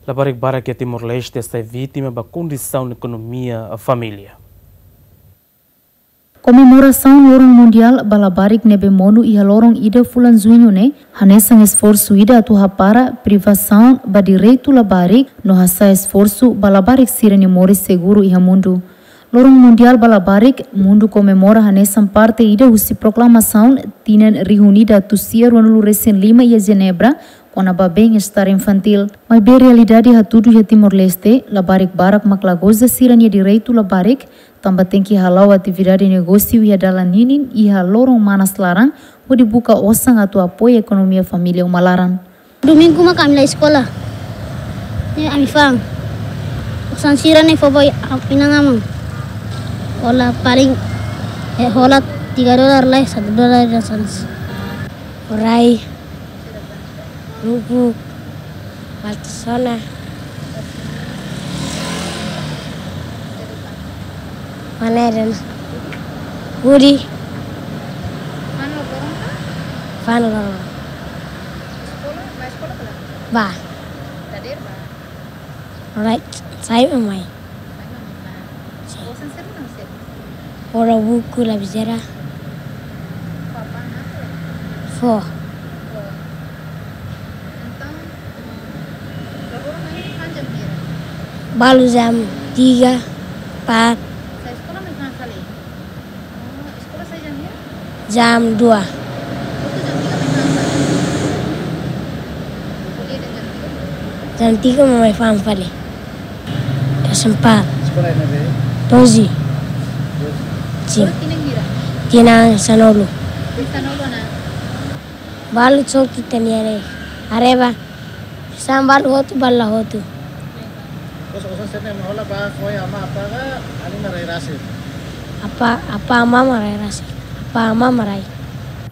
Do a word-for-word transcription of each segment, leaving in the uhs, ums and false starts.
Labarik barak iha Timor-Leste sai vítima ba kondisaun ekonomia família. Komemorasaun Loron Mundiál ba Labarik ne'ebé monu iha loron ida fulan Juñu ne'e, hanesan esforsu ida atu hapara privasaun ba direitu labarik no hasa'e esforsu ba labarik sira-nia moris seguru iha mundu. Loron Mundiál ba Labarik, mundu komemora hanesan parte ida husi proklamasaun tinan rihun ida atus sia ruanulu resin lima iha Jenebra, kona-ba bem-estar infantil. Maibé realidade hatudu iha Timor-Leste, labarik barak mak la goza sira-nia direitu labarik, tanba tenke hala'o atividade negósiu iha dalan ninin iha loron manas laran, hodi buka osan atu apoia ekonomia família uma laran. Domingu mak ami la eskola. Ne'e ami fa'an. Osan sira-ne'e fó ba inan-aman. Hola paling, eh, hola tiga dolar lai, satu dolar dan sanas. Orai, rupuk, baltasona, panera, hudi. Fa'an loron. Ba. Alright, sai mamai. Ora buku lapiseira. Fó. Balu jam tiga, empat. Jam dua. Jam tiga mamai fa'an fali. Kelas empat. Doze. Sim. Tinan sanulu. Balu coki teniare. Areba. Sambal hotu, bala hotu. Terus osan sira-ne'e mak hola ba foin ama apa ka, alin rai rasik? Apa, apa ama mak rai rasik? Apa ama mak rai?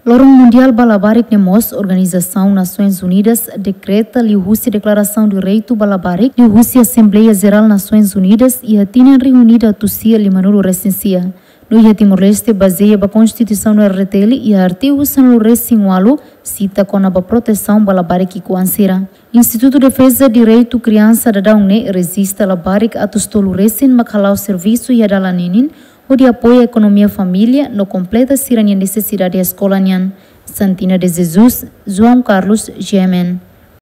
Loron Mundiál ba Labarik ne'e mós Organizasaun Nasoins Unidas dekreta liuhusi Deklarasaun Direitu ba Labarik, liuhusi Asembleia Jerál Nasoins Unidas iha tinan rihun ida atus sia limanulu resin sia. No iha Timor-Leste bazeia ba Konstituisaun R D T L iha artigu sanulu resin ualu sita kona-ba protesaun ba labarik ki'ikoan sira. Institutu Defeza Direitu Kriansa Dadaun ne'e rejista labarik atus tolu resin mak hala'o servisu iha dalan ninin, hodi apoia ekonomia família no kompleta sira-nia nesesidade eskola nian. Santina de Jesus, João Carlos, G M N.